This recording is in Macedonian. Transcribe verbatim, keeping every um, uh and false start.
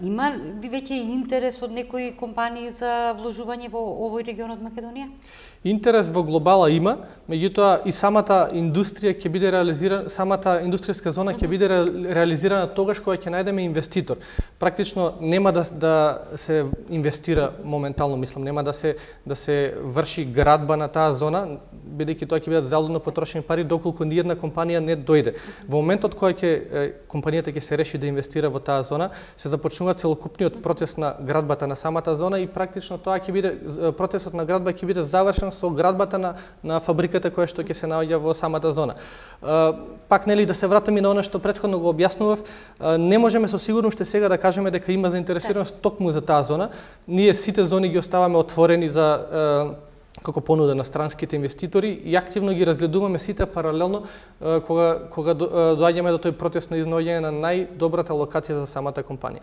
Има ли веќе интерес од некои компании за вложување во овој регион од Македонија? Интерес во глобала има, меѓутоа и самата индустрија ќе биде реализирана, самата индустријска зона ќе биде реализирана тогаш кога ќе најдеме инвеститор. Практично нема да да се инвестира моментално, мислам, нема да се да се врши градба на таа зона, бидејќи тоа ќе бидат залудно потрошени пари доколку ни една компанија не дојде. Во моментот кога ќе компанијата ќе се реши да инвестира во таа зона, се започнува целокупниот процес на градбата на самата зона и практично тоа ќе биде процесот на градба ќе биде завршен со градбата на на фабриката која што ќе се наоѓа во самата зона. Пак нели да се вратиме на она што претходно го објаснував, не можеме со сигурност уште сега да кажеме дека има заинтересираност токму за таа зона. Ние сите зони ги оставаме отворени за како понуда на странските инвеститори и активно ги разгледуваме сите паралелно кога кога доаѓаме до тој процес на изнаоѓање на најдобрата локација за самата компанија.